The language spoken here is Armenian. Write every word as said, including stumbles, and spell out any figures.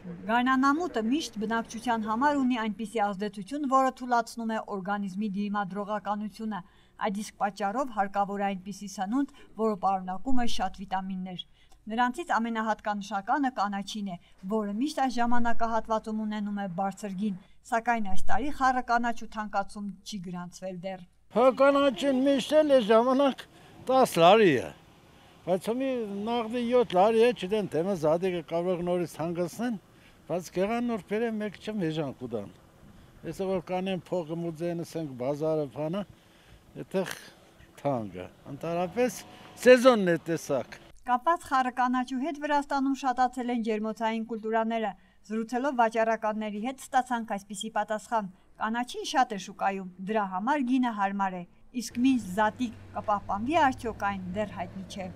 Գարնանամուտը միշտ բնակչության համար ունի այնպիսի ազդեցություն, որը թուլացնում է օրգանիզմի դիմադրողականությունը, այդ իսկ պատճառով հարկավոր է այնպիսի սնունդ, որը պարունակում է շատ վիտամիններ։ Նրանցից ամենահատկանշականը կանաչին է, որը միշտ այս ժամանակահատվածում ունենում է բարձր գին, սակայն այս տարի խառը կանաչու թանկացում չի գրանցվել դեռ։ Հա կանաչին միշտ էլ է ժամանակ տասը լարի է, բայց հոմի նախդի յոթ լարի է, չդեն թեմը զադիկը կարող նորից հանգացնեն, բայց գեղան նոր պերը մեկ չեմ հեժան կուդան։ Եսը որ կանեն փողը մուձենը սենք բազարը պանը, եթեղ թանգը, ընդարապես սեզոնն է տեսակ։ Կապված խառը կանաչու հետ Վրաստանում շատացել են ջերմոցային կուլտուրաները, զրուցելով վաճառականների հետ ստացանք այսպիսի պատասխան. կանաչին շատ է շուկայում, դրա համար գինը հարմար է, իսկ մինչ զատիկ կպահպանվի արդյոք այն դեռ հայտնի չէ։